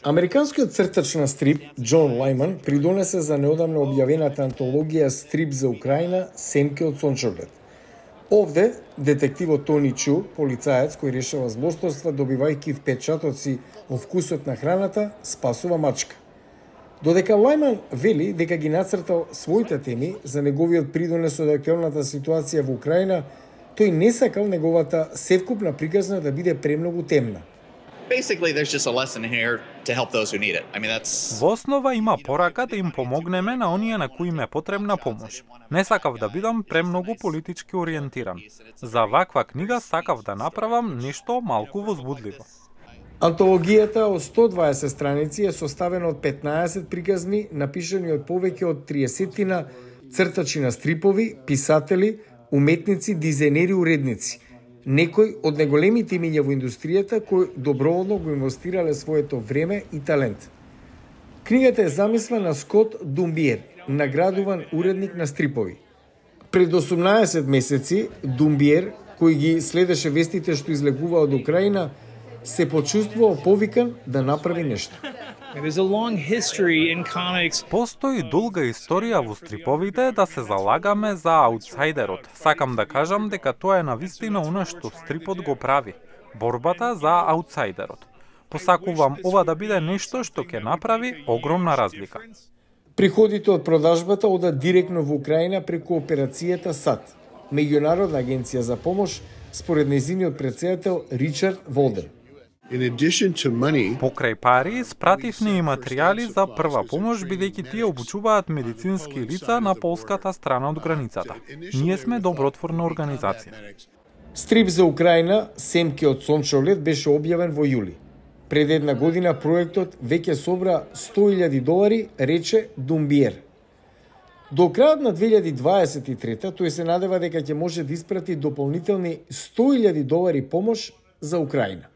Американскиот цртач на стрип Џон Лајман придонесе за неодамно објавената антологија Стрип за Украина Семки од сончоглед. Овде, детективот Тони Чу, полицаец кој решава злосторства добивајќи впечатоци во вкусот на храната, спасува мачка. Додека Лајман вели дека ги нацртал своите теми за неговиот придонес од актуелната ситуација во Украина, тој не сакал неговата севкупна приказна да биде премногу темна. Basically, there's just a lesson here to help those who need it. I mean, that's... Во основа има порака да им помогнеме на оние на кои им е потребна помош. Не сакав да бидам премногу политички ориентиран. За ваква книга сакав да направам нешто малку возбудливо. Антологијата од 120 страници е составена од 15 приказни, напишани од повеќе од 30 цртачи на стрипови, писатели, уметници, дизајнери, уредници. Некои од најголемите имиња во индустријата кои доброволно го инвестирале своето време и талент. Книгата е замисла на Скот Думбиер, наградуван уредник на стрипови. Пред 18 месеци Думбиер, кој ги следеше вестите што излегува од Украина, се почувствува повикан да направи нешто. Постои долга историја во стриповите да се залагаме за аутсайдерот. Сакам да кажам дека тоа е навистина она што стрипот го прави. Борбата за аутсайдерот. Посакувам ова да биде нешто што ќе направи огромна разлика. Приходите од продажбата одат директно во Украина преку операцијата САД, меѓународна агенција за помош, според нејзиниот претседател Ричард Волден. Покрај пари, спративме и материјали за прва помош, бидејќи тие обучуваат медицински лица на полската страна од границата. Ние сме добротворна организација. Стрип за Украина, Семки од сончоглед, беше објавен во јули. Пред една година проектот веќе собра $100,000, рече Думбиер. До крајот на 2023 тој се надева дека ќе може да испрати дополнителни $100,000 помош за Украина.